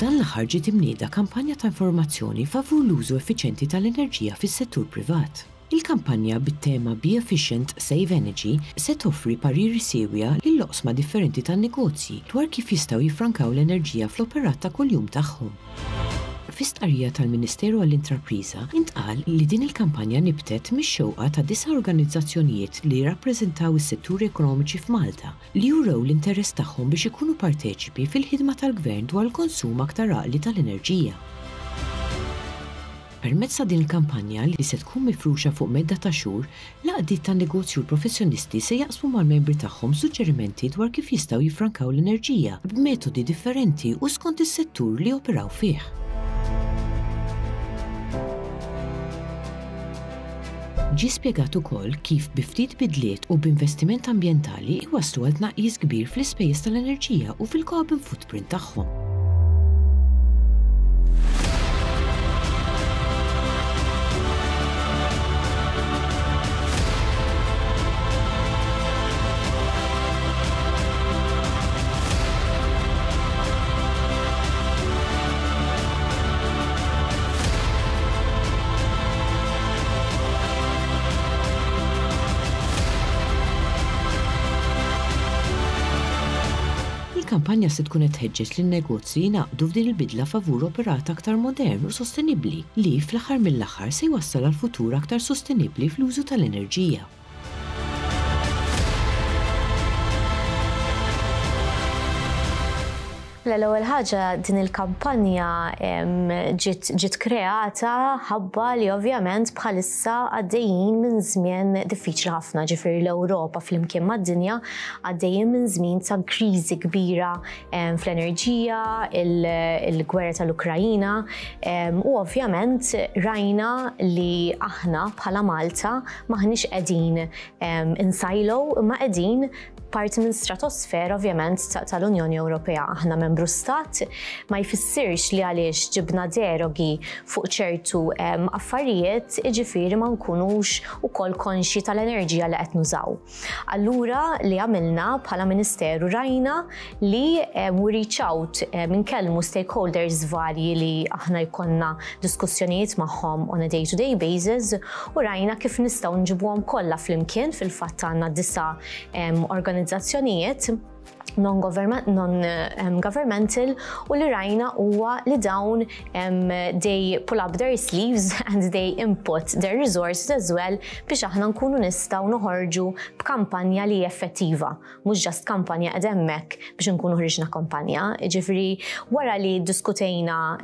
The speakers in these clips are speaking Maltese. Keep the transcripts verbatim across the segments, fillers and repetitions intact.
Dan l-aħħar ġiet imnieda kampanja ta' informazzjoni favur l-użu effiċjenti tal-enerġija fis-settur privat. Il-kampanja bit-tema "Be Efficient, Save Energy" se toffri pariri siewja lil oqsma differenti tan-negozji dwar kif jistgħu jiffrankaw l-enerġija fl-operat ta' kuljum tagħhom. Fi stqarrija tal-Ministeru għall-Intrapriża intqal li din il-kampanja nibtet mix-xewqa ta' disa' organizzazzjonijiet li jirrappreżentaw is-setturi ekonomiċi f'Malta li jurew l-interess tagħhom biex ikunu parteċipi fil-ħidma tal-Gvern dwar il-konsum aktar għaqli tal-enerġija. Permezz ta' din il-kampanja, li se tkun mifruxa fuq medda ta' xhur, l-għaqdiet tan-negozju u l-professjonisti se jaqsmu mal-membri tagħhom suġġerimenti dwar kif jistgħu jiffrankaw l-enerġija b'metodi differenti u skont is-settur li joperaw fih. Ġie spjegat ukoll kif bi ftit bidliet u b'investiment ambjentali iwasslu għal tnaqqis kbir fl-ispejjeż tal-enerġija u fil-carbon footprint tagħhom. Il-kampanja se tkun qed tħeġġeġ lin-negozji jingħaqdu f'din il-bidla favur operat aktar modern u sostenibbli li fl-aħħar mill-aħħar se jwassal għal futur aktar sostenibbli fl-użu tal-enerġija. L-ewwel ħaġa, din il-kampanja ġiet ġiet kreata ħabba li ovvjament bħalissa għaddejjin minn żmien diffiċli ħafna, ġifieri l-Ewropa flimkien mad-dinja għaddejjin minn żmien ta' kriżi kbira fl-enerġija, il-gwerra tal-Ukrajina, u ovvjament rajna li aħna bħala Malta maħniex qegħdin in silo, imma qegħdin parti minn stratosfera ovvjament tal-Unjoni Ewropea. Aħna membru stat, ma jfissirx li għaliex ġibna derogi fuq ċertu affarijiet, iġifieri ma nkunux ukoll konxji tal-enerġija li qed nużaw. Allura li għamilna bħala Ministeru, rajna li we reach out, inkellmu stakeholders varji li aħna jkollna diskussjonijiet magħhom on a day-to-day basis u rajna kif nistgħu nġibuhom kollha flimkien. Fil-fatt għandna disa' organizzazzjonijiet non-governmental u li rajna huwa li dawn they pull up their sleeves and they input their resources as well biex aħna nkunu nistgħu noħorġu b'kampanja li effettiva, mhux just kampanja qed hemmhekk biex nkunu ħriġna kampanja. Ġifieri wara li diskutejna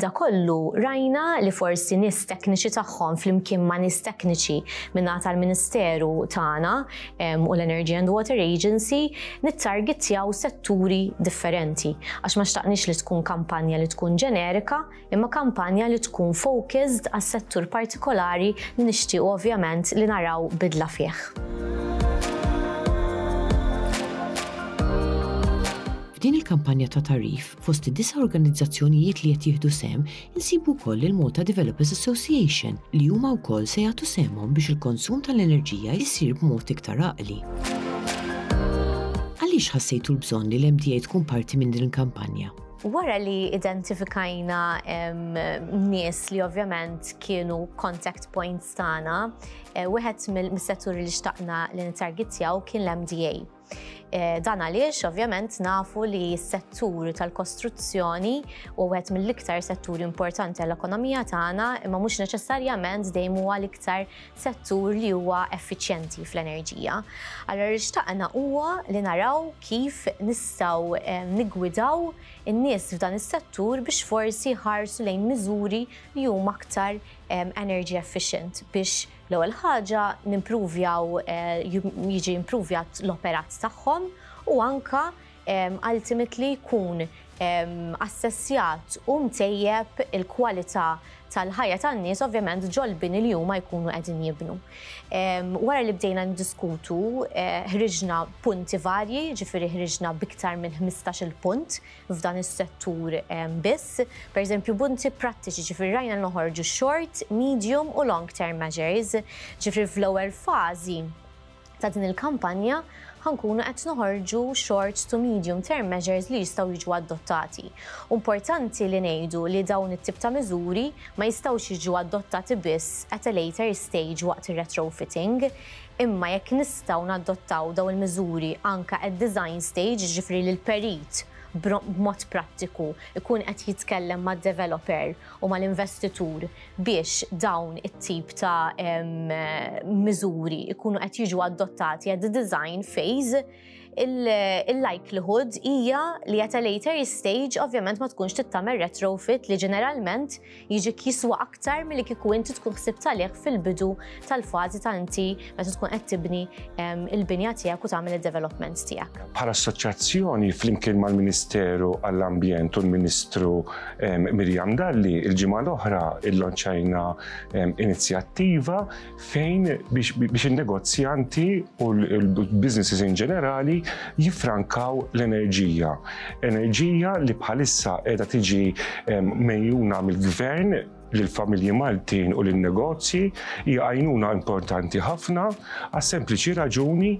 da kollu, rajna li forsi nies tekniċi tagħhom flimkien ma' nies tekniċi minna tal-Ministeru tagħna u l-Energy and Water Agency nittargetjaw setturi differenti. Għax ma xtaqniex li tkun kampanja li tkun ġenerika, imma kampanja li tkun focused għas settur partikolari li nixtiequ ovvjament li naraw bidla fih. F'din il-kampanja ta' tagħrif, fost id-disa' organizzazzjonijiet li qed jieħdu sehem, insibu wkoll il-Malta Developers Association, li huma wkoll se jagħtu sehemhom biex il-konsum tal-enerġija jsir b'mod iktar għaqli. Għaliex ħassejtu l-bżonn li l-M D A tkun parti minn din il-kampanja? Wara li identifikajna nies li ovvjament kienu contact points tagħna, eh, wieħed mill-setturi li xtaqna li nittargetjaw kien l-M D A. Eh, dan għaliex ovvjament nafu li s-settur tal-kostruzzjoni u wieħed mill-iktar setturi importanti għall-ekonomija tagħna, imma mhux neċessarjament dejjem huwa l-iktar settur li huwa effiċjenti fl-enerġija. Allura li xtaqna huwa li naraw kif nistgħu eh, niggwidaw in-nies f'dan is-settur biex forsi ħarsu lejn miżuri li huma aktar energy efficient biex l-ewwel ħaġa nimpruvjaw eh, jiġi impruvjat l-operat tagħhom u anka ultimately jkun assessjat u mtejjeb il-kwalità tal-ħajja tan-nies ovvjament ġol-bini li huma jkunu qegħdin jibnu. Wara li bdejna ndiskutu, eh, ħriġna punti varji, ġifieri ħriġna biktar minn ħmistax-il punt f'dan is-settur biss. Per eżempju, punti prattiċi, ġifieri rajna noħorġu short, medium u long term measures, ġifieri fl-ewwel fażi Ta' din il-kampanja ħa nkunu qed noħorġu short to medium term measures li jistgħu jiġu adottati. Importanti li ngħidu li dawn it-tip ta' miżuri ma jistgħux jiġu adottati biss at a later stage waqt ir-retrofitting, imma jekk nistgħu nadottaw dawn il-miżuri anka at design stage, ġifieri li l-perit b'mod prattiku ikun qed jitkellem mad-developer u mal-investitur biex dawn it-tip ta' miżuri ikunu qed jiġu adottati at the design phase, il-likelihood hija li at a later stage ovvjament ma tkunx trid tagħmel retrofit li ġeneralment jiġi jiswa aktar milli kieku inti tkun ħsibt għalih fil-bidu tal-fażi ta' inti meta tkun qed tibni il-binja tiegħek u tagħmel il-development tiegħek. Bħala assoċjazzjoni, flimkien mal-Ministeru għall-Ambjent u l-Ministru Miriam Dalli, il-ġimgħa l-oħra illonċajna inizjattiva fejn biex il-negozjanti u l-businesses in ġenerali jifrankaw l-enerġija. Enerġija li bħalissa qiegħda tiġi megħjuna mill-gvern lill-familji Maltin u lin-negozji. Hija għajnuna importanti ħafna għas-sempliċi raġuni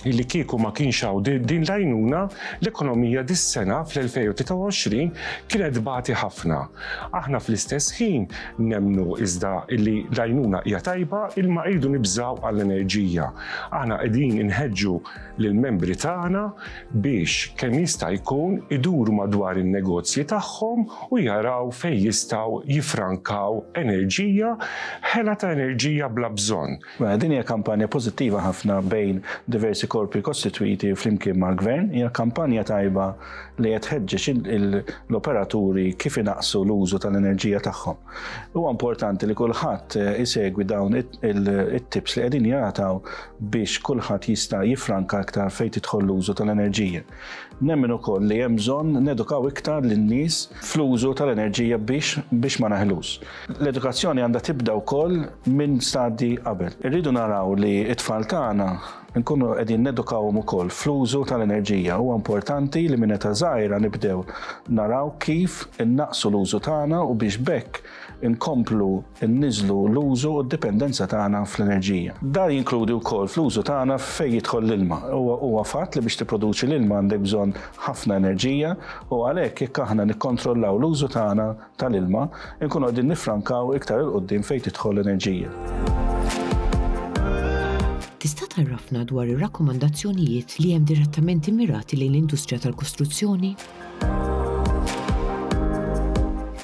li kieku ma kienx hawn din l-għajnuna, l-ekonomija dis-sena fl-elfejn u tlieta u għoxrin kienet tbati ħafna. Aħna fl-istess ħin nemnu iżda li l-għajnuna hija tajba, imma rridu nibżaw għall-enerġija. Aħna qegħdin inħeġġu lill-membri tagħna biex kemm jista' jkun iduru madwar in-negozji tagħhom u jaraw fejn jistgħu jifrankaw enerġija, ħela ta' enerġija bla bżonn. Mela, din hija kampanja pożittiva ħafna bejn diversi korpi kostitwiti flimkien mal-gvern. Hija kampanja tajba li qed tħeġġeġ l-operaturi kif inaqsu l-użu tal-enerġija tagħhom. Huwa importanti li kulħadd isegwi dawn it-tips li qegħdin jagħtaw biex kulħadd jista' jifranka aktar fejn tidħol l-użu tal-enerġija. Nemmen ukoll li hemm bżonn nedukaw iktar lin-nies fl-użu tal-enerġija biex biex ma naħlux. L-edukazzjoni għandha tibda wkoll minn stadji qabel. Irridu naraw li t-tfal tagħna nkunu qegħdin nedukawhom ukoll fl-użu tal-enerġija. Huwa importanti li minn età żgħira nibdew naraw kif innaqsu l-użu tagħna u biex b'hekk inkomplu nniżlu l-użu u d-dipendenza tagħna fl-enerġija. Dan jinkludi wkoll fl-użu tagħna fejn jidħol l-ilma. Huwa fatt li biex tipproduċi l-ilma għandek bżonn ħafna enerġija u għalhekk jekk aħna nikkontrollaw l-użu tagħna tal-ilma, inkunu qegħdin nifrankaw iktar 'il quddiem fejn tidħol l-enerġija. Tista' tgħarrafna dwar ir-rakkomandazzjonijiet li hemm direttament immirati lejn l-industrija tal-kostruzzjoni?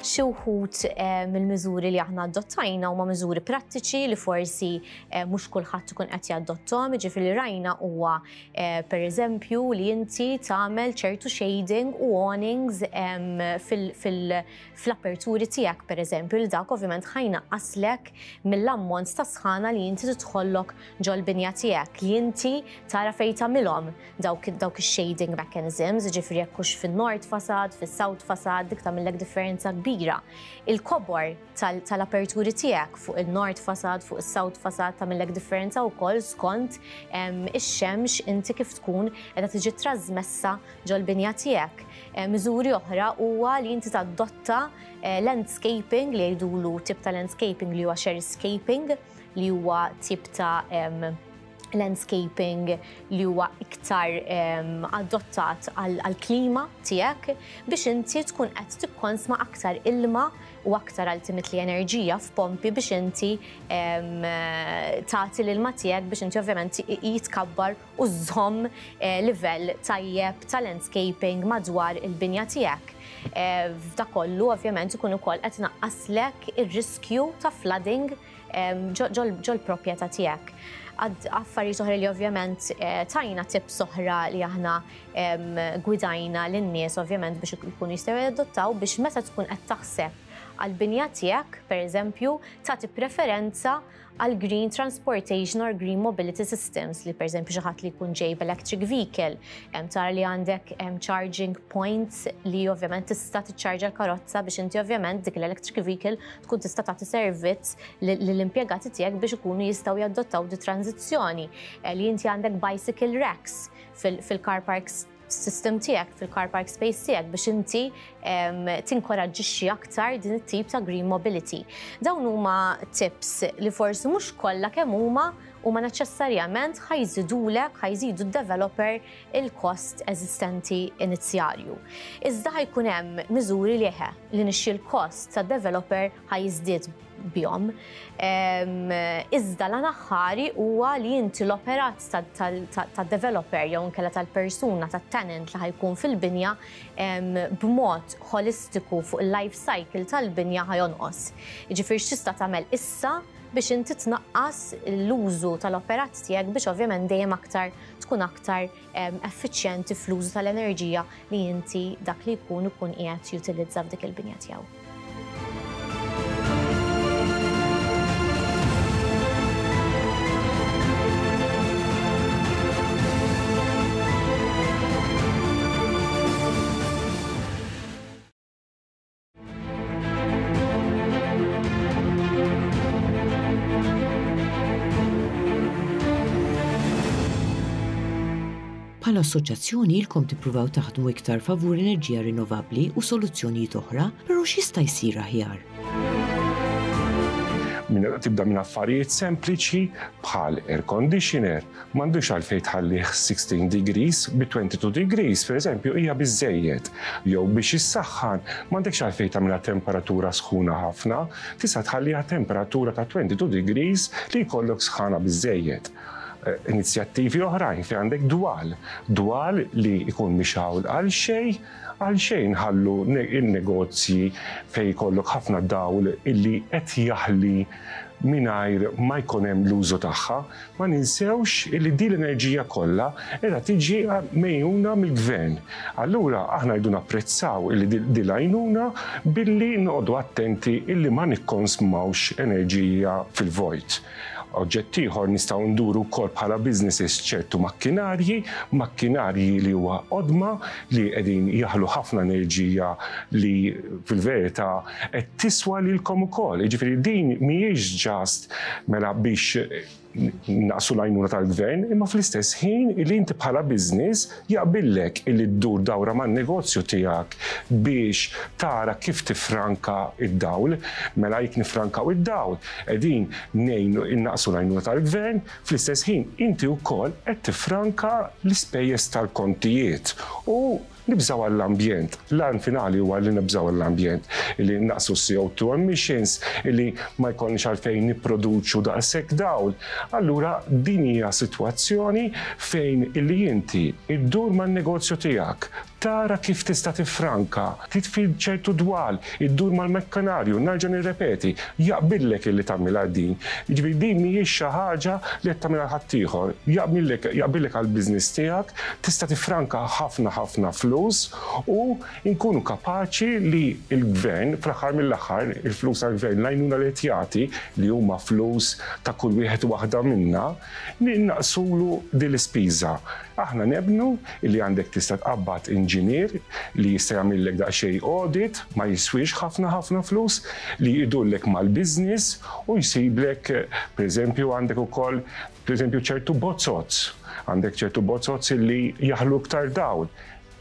Xi wħud eh, mill-miżuri li aħna adottajna huma miżuri prattiċi li forsi eh, mhux kulħadd ikun qed jadottom, jiġifieri rajna huwa eh, pereżempju li inti tagħmel ċertu shading u awnings fl-aperturi tiegħek, pereżempju, li dak ovvjament ħa jnaqqaslek mill-ammont ta' sħana li inti tidħollok ġol-binja tiegħek, li inti tara fejn tagħmilhom dawk dawk ix-shading mechanisms, ġifieri jekk hux fin-north facade, fis-south facade, dik tagħmellek differenza kbira. Il-kobor tal-aperturi tiegħek fuq il-north facade, fuq is-south facade tagħmellek differenza wkoll skont ix-xemx inti kif tkun qiegħda tiġi trasmessa ġol-binja tiegħek. Miżuri oħra huwa li inti tadotta eh, landscaping li jgħidulu tip ta' landscaping li huwa xeriscaping, li huwa tip ta' landscaping li huwa iktar um, adottat għal-klima tiegħek biex inti tkun qed tikkonsma aktar ilma u aktar ultimately enerġija f'pompi biex inti um, tagħti l-ilma tiegħek biex inti ovvjament jitkabbar u żomm eh, livell tajjeb ta' landscaping madwar il-binja tiegħek. Eh, f'da kollu ovvjament ikun ukoll qed naqqaslek ir-riskju ta' flooding ġol proprjetà tiegħek. Affarijiet oħra li ovvjament eh, tajna, tips oħra li aħna gwidajna lin-nies ovvjament biex ikunu jistgħu jadottaw, biex meta tkun qed taħseb għal-binja tiegħek, pereżempju, tagħti preferenza għal green transportation or green mobility systems, li per eżempju xi ħadd li jkun ġej electric vehicle, tara li għandek charging points li ovvjament tista' tiċċarġa l-karozza biex inti ovvjament dik l-electric vehicle tkun tista' tagħti servizz lill-impjegati tiegħek biex ikunu jistgħu jadottaw di tranzizzjoni. Eh, li inti għandek bicycle racks fil-car parks. system tiegħek, fil-car park space tiegħek biex inti tinkoraġġixxi aktar din it-tip ta' green mobility. Dawn huma tips li forsi mhux kollha kemm huma huma neċessarjament ħa jżidulek, ħa jżidu d-developer il-kost eżistenti inizjalju. Iżda ħa jkun hemm miżuri li eħe li nixxi l-kost tad-developer ħa jiżdied bihom. Iżda l-aħħari huwa li inti l-operat tad-developer jew inkella tal-persuna, tat-tenant li ħa jkun fil-binja b'mod holistiku fuq il-life cycle tal-binja ħa jonqos. Jiġifieri x'tista' tagħmel issa biex inti tnaqqas l-użu tal-operat tiegħek biex ovvjament dejjem aktar tkun aktar effiċjenti fl-użu tal-enerġija li inti dak li jkun ikun qiegħed jutilizza f'dik il-binja tiegħu. Bħala assoċjazzjoni ilkom tippruvaw taħdmu iktar favur enerġija rinnovabbli u soluzzjonijiet oħra, però x'jista' jsir aħjar? Tibda minn affarijiet sempliċi bħal air conditioner, m'għandux għalfejn tħallih sixteen degrees bi twenty-two degrees, per eżempju, hija biżżejjed. Jew biex issaħħan, m'għandekx għalfejn tagħmilha temperatura sħuna ħafna, tista' tħalliha temperatura ta' twenty-two degrees li jkollok sħana biżżejjed. Inizjattivi oħrajn fejn għandek dwal, dwal li jkun mixgħul għal xejn, għal xejn ħallu il-negozji fejn jkollok ħafna dawl illi qed jaħli mingħajr ma jkun hemm l-użu tagħha. Ma ninsewx illi din l-enerġija kollha qiegħda tiġi mejjuna mill-gvern. Allura aħna rridu napprezzaw illi din l-għajnuna billi noqogħdu attenti illi ma nikkonsmawx enerġija fil-vojt. Oġġett ieħor nistgħu nduru wkoll bħala businesses ċertu makkinarji, makkinarji li huwa qodma li qegħdin jaħlu ħafna enerġija li fil-verità qed tiswa lilkom ukoll. Jiġifieri din mhijiex ġast mela biex naqsu l-għajnuna tal-gvern, imma fl-istess ħin li inti bħala business jaqbillek illi ddur dawra man-negozju tiegħek biex tara kif tifranka id-dawl. Mela jekk nifrankaw id-dawl, qegħdin ngħinu innaqsu l-għajnuna tal-gvern, fl-istess ħin inti wkoll qed tifranka l-ispejjeż tal-kontijiet u nibżaw għall-ambjent. L-għan finali huwa li nibżaw għall-ambjent, li naqsu C O two emissions, li ma jkollniex għalfejn nipproduċu daqshekk dawl. Allura din hija sitwazzjoni fejn illi inti iddur man-negozju tiegħek, tara kif tista' tifranka, titfi ċertu dwal, iddur mal-mekkanarju, nerġa' nirrepeti, jaqbillek illi tagħmilha din. Jiġifieri din mhijiex xi ħaġa li qed tagħmilha ħaddieħor, jaqbillek, jaqbillek għall-business tiegħek, tista' tifranka ħafna ħafna flus u nkunu kapaċi li l-gvern, fl-aħħar mill-aħħar, il-flus tal-gvern, l-għajnuna li qed jagħti li huma flus ta' kull wieħed u waħda minna, naqsulu din l-ispiża. Aħna nebnu li għandek tista' tqabbad inġinier li jista' jagħmillek daqsxejn audit, ma jiswix ħafna ħafna flus, li jdullek mal-business u jsiblek, pereżempju, għandek ukoll, pereżempju, ċertu bozzozz, għandek ċertu bozzozz li jaħlu iktar dawl.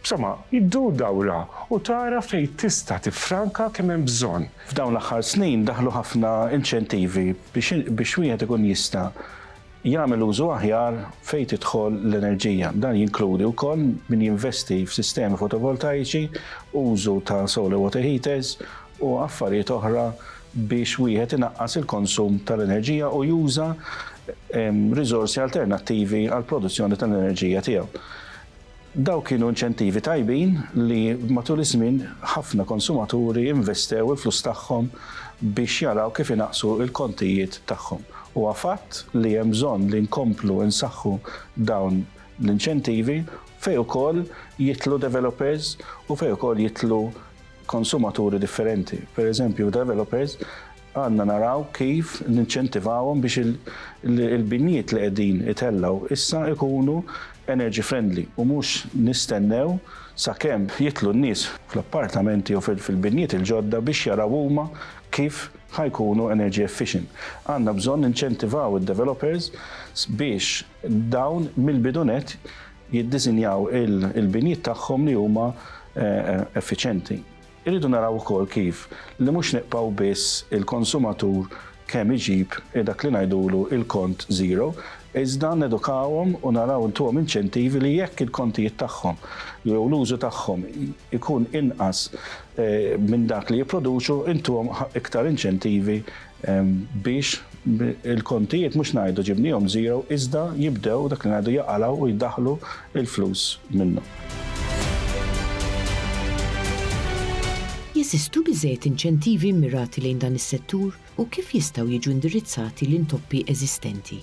Insomma, iddur dawra u tara fejn tista' tifranka kemm hemm bżonn. F'dawn l-aħħar snin daħlu ħafna inċentivi biex, biex wieħed ikun jista' jagħmel użu aħjar fejn tidħol l-enerġija. Dan jinkludi wkoll min jinvesti f'sistemi fotovoltaiċi, użu ta' solar water heaters u affarijiet oħra biex wieħed inaqqas il-konsum tal-enerġija u juża, em, riżorsi alternattivi għall-produzzjoni tal-enerġija tiegħu. Daw kienu inċentivi tajbin li matul iż-żmien ħafna konsumaturi investew il-flus tagħhom biex jaraw kif inaqsu il-kontijiet tagħhom. Huwa fatt li hemm bżonn li nkomplu nsaħħu dawn l-inċentivi fejn ukoll jitlu developers u fejn ukoll jitlu konsumaturi differenti. Per eżempju, developers għandna naraw kif ninċentivawhom biex il-, il-, il-binjiet li qegħdin itellgħu issa ikunu energy friendly u mhux nistennew sakemm jitlu n-nies fl-appartamenti u fil-, fil-binjiet il-ġodda biex jaraw huma kif ħa jkunu energy efficient. Għandna bżonn ninċentivaw id-developers biex dawn mill-bidunet jiddisinjaw il-binjiet tagħhom li huma effiċenti. Irridu naraw ukoll kif li mhux nibqgħu biss il-konsumatur kemm iġib dak li ngħidulu il-kont zero, iżda nedukawhom u naraw intuhom inċentivi li jekk il-kontijiet tagħhom jew l-użu tagħhom ikun inqas minn dak li jipproduċu, intuhom iktar inċentivi biex il-kontijiet mhux ngħidu ġibnihom zero, iżda jibdew dak li ngħidu jaqalgħu u jdaħlu il-flus minnhom. Jeżistu biżejjed inċentivi mirati lejn dan is-settur u kif jistgħu jiġu indirizzati l-intoppi eżistenti?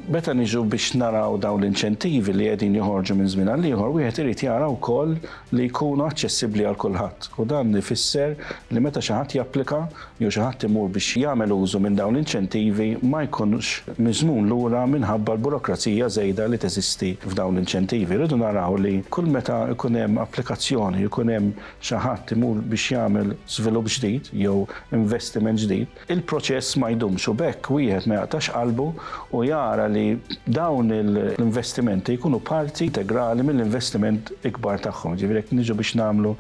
Meta niġu biex naraw dawn l-inċentivi li qegħdin joħorġu minn żmien għal ieħor, wieħed irid jara wkoll li jkunu aċċessibbli għal kulħadd. U dan ifisser li meta xi ħadd japplika jew xi ħadd imur biex jagħmel użu minn dawn l-inċentivi ma jkunx miżmum lura minħabba l-burokrazija żejda li teżisti f'dawn l-inċentivi. Rridu naraw li kull meta jkun hemm applikazzjoni, jkun hemm xi ħadd imur biex jagħmel żvilupp ġdid jew investiment ġdid, il-proċess ma jdumx u b'hekk wieħed ma jaqtax qalbu u jara li dawn l-investimenti jkunu parti integrali mill-investiment ikbar tagħhom. Ġifieri jekk niġu biex nagħmlu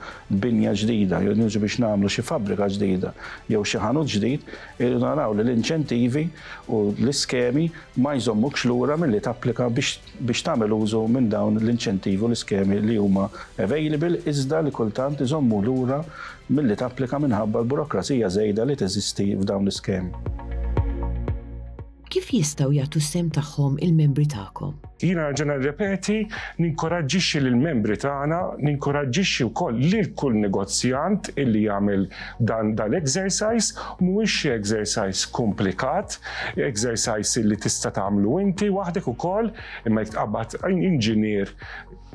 binja ġdida, jew niġu biex nagħmlu xi fabbrika ġdida, jew xi ħanut ġdid, irridu naraw li l-inċentivi u l-iskemi ma jżommukx lura milli tapplika biex tagħmel użu minn dawn l-inċentivi u l-iskemi li huma available, iżda li kultant iżommu lura milli tapplika minħabba l-burokrazija żejda li teżisti f'dawn l-iskemi. Kif jistgħu jagħtu s-sehem tagħhom il-membri tagħkom? Jiena nerġa' nirrepeti, ninkoraġġixxi lill-membri tagħna, ninkoraġġixxi wkoll lil kull negozjant illi jagħmel dan dal-exercise, mhuwiex xi exercise komplikat, exercise illi tista' tagħmlu inti waħdek ukoll, imma jekk tqabbad inġinier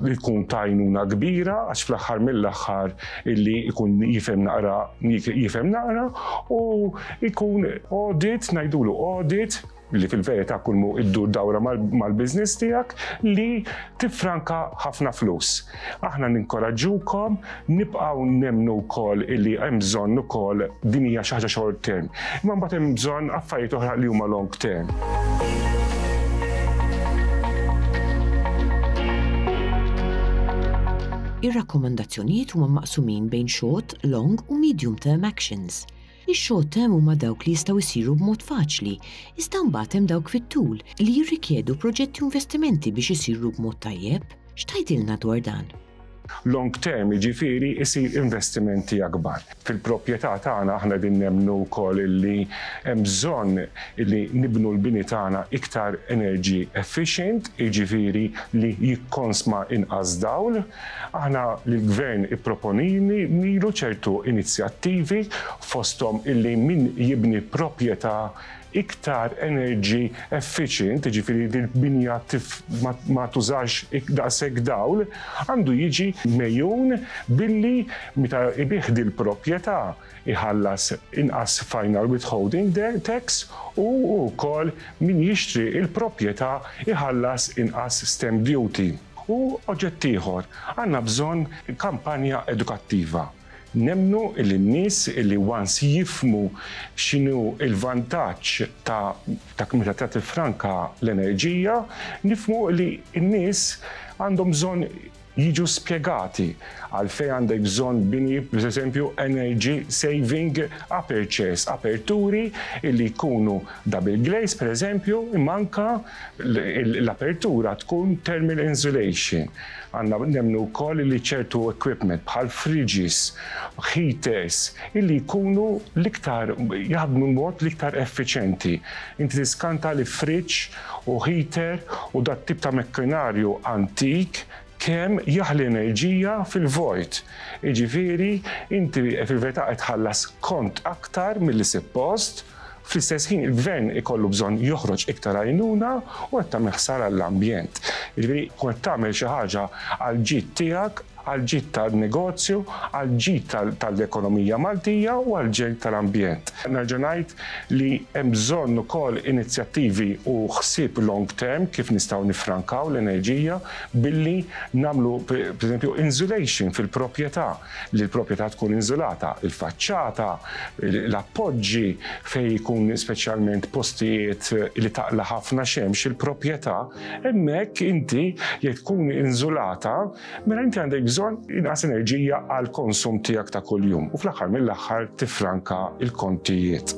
li jkun tajnuna kbira, għax fl-aħħar mill-aħħar illi jkun jifhem naqra, jifhem naqra u jkun audit, ngħidulu audit, li fil-verità kull mu iddur dawra mal-biznis tiegħek li tifranka ħafna flus. Aħna ninkoraġġukom, nibqgħu nemmnu wkoll illi hemm bżonn ukoll din hija xi ħaġa short term. Imma mbagħad hemm bżonn affarijiet oħra li huma long term. Ir-rakkomandazzjonijiet huma maqsumin bejn short, long u medium term actions. Ix-short term huma dawk li jistgħu jsiru b'mod faċli, iżda mbagħad hemm dawk fit-tul li jirrikjedu proġetti u investimenti biex isiru b'mod tajjeb. X'tgħidilna dwar dan? Long term jiġifieri isir investimenti akbar. Fil-proprjetà tagħna aħna din nemmnu wkoll illi hemm bżonn illi nibnu l-bini tagħna iktar energy efficient, jiġifieri li jikkonsma inqas dawl. Aħna l-gvern ipproponini nilu ċertu inizjattivi fosthom illi min jibni proprjetà iktar energy efficient, jiġifieri li l-binja ma tużax daqshekk dawl, għandu jiġi mejjun billi meta ibih dil-proprjetà iħallas inqas final withholding tax u wkoll min jixtri il-proprjetà iħallas inqas stamp duty. U oġġett ieħor, għandna bżonn kampanja edukattiva. Nemnu illi n-nies illi once jifmu x'inhu il-vantaġġ ta' ta' meta tagħti franka l-enerġija, nifmu li n-nies għandhom bżonn jiġu spjegati għalfejn għandek bżonn bini, per eżempju, energy saving apertures, aperturi illi jkunu double glaze, per eżempju, imma anka l-apertura tkun thermal insulation. Għandna nemmnu wkoll li ċertu equipment bħal fridges, heaters, illi jkunu l-iktar, jaħdmu mod l-iktar effiċenti. Inti tiskanta li fridge u heater u dat tip ta' mekkinarju antik kemm jaħli enerġija fil-vojt. Jiġifieri, inti fil-verità qed tħallas kont aktar milli suppost, fl-istess ħin il-gvern ikollu bżonn joħroġ iktar għajnuna u qed tagħmel ħsara għall-ambjent. Jiġifieri, qed tagħmel xi ħaġa għal ġid tiegħek, Għal-ġid tal-negozju, għal-ġid tal-ekonomija Maltija u għal-ġid tal-ambjent. Nerġa' ngħid li hemm bżonn ukoll inizjattivi u ħsieb long term kif nistgħu nifrankaw l-enerġija billi nagħmlu, pereżempju, insulation fil-proprjetà, li l-proprjetà tkun insulata, il-faċċata, l-appoġġi fejn jkun speċjalment postijiet li taqla ħafna xemx il-proprjetà, hemmhekk inti jekk tkun insulata, mela inti għandek bżonn inqas enerġija għal konsum tiegħek ta' kuljum u fl-aħħar mill-aħħar tifranka il-kontijiet.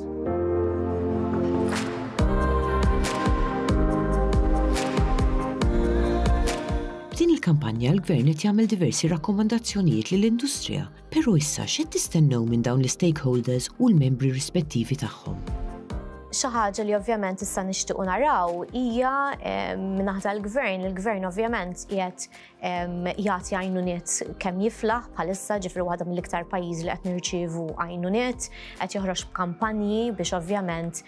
B'din il-kampanja l-Gvern qed jagħmel diversi rakkomandazzjonijiet lill-industrija, però issa x'qed tistennew minn dawn l-stakeholders u l-membri rispettivi tagħhom? Xi ħaġa li ovvjament issa nixtiequ naraw hija min-naħa tal-gvern. Il-gvern ovvjament qiegħed jagħti għajnuniet kemm jiflaħ bħalissa, ġifieri waħda mill-iktar pajjiżi li qed nirċievu għajnuniet, qed joħroġ b'kampanji biex ovvjament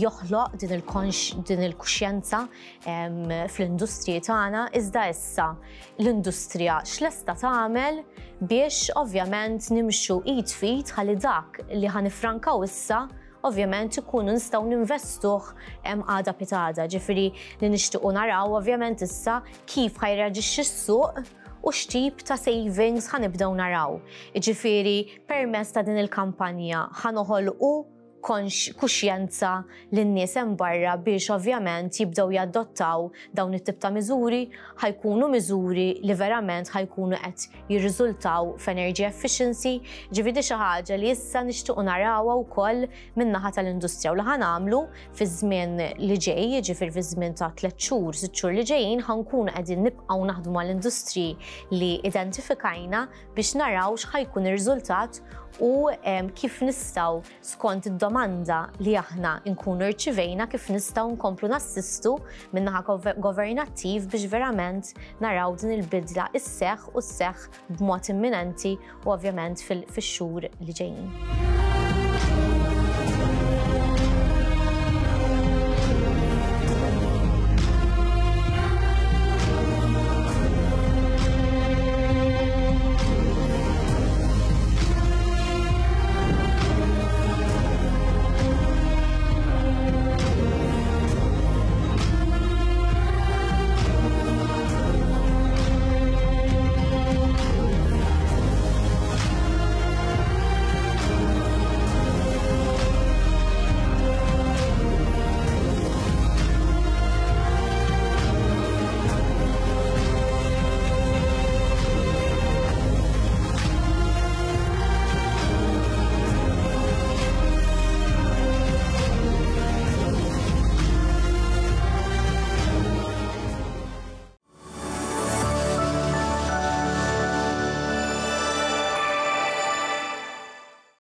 joħloq din il-kuxjenza fl-industriji tagħna. Iżda issa l-industrija x'lesta tagħmel biex ovvjament nimxu id f'id ħalli dak li ħanifrankaw issa ovvjament ikunu nistgħu ninvestuh għada pitada. Ġifieri li nixtiequ naraw ovvjament issa kif ħajreaġixxi s-suq u x'tip ta' savings ħanibdew naraw. Ġifieri permezz ta' din il-kampanja ħanoħolqu kuxjenza lin-nies hemm barra biex ovvjament jibdew jadottaw dawn it-tip ta' miżuri, ħajkunu miżuri li verament ħajkunu qed jirriżultaw f'energy efficiency. Ġifieri xi ħaġa li issa nixtiequ narawha wkoll min-naħa tal-industrija u li ħanagħmlu fiż-żmien li ġej, jiġifieri fiż-żmien ta' tliet xhur, sitt xhur li ġejjin, ħankunu qegħdin nibqgħu naħdmu mal-industriji li identifikajna biex naraw x'ħajkun ir-riżultat u kif nistgħu skont id-domanda li aħna nkunu rċivejna kif nistgħu nkomplu nassistu min-naħa governattiv biex verament naraw din il-bidla isseħħ u sseħħ b'mod imminenti u ovvjament fix-xhur li ġejjin.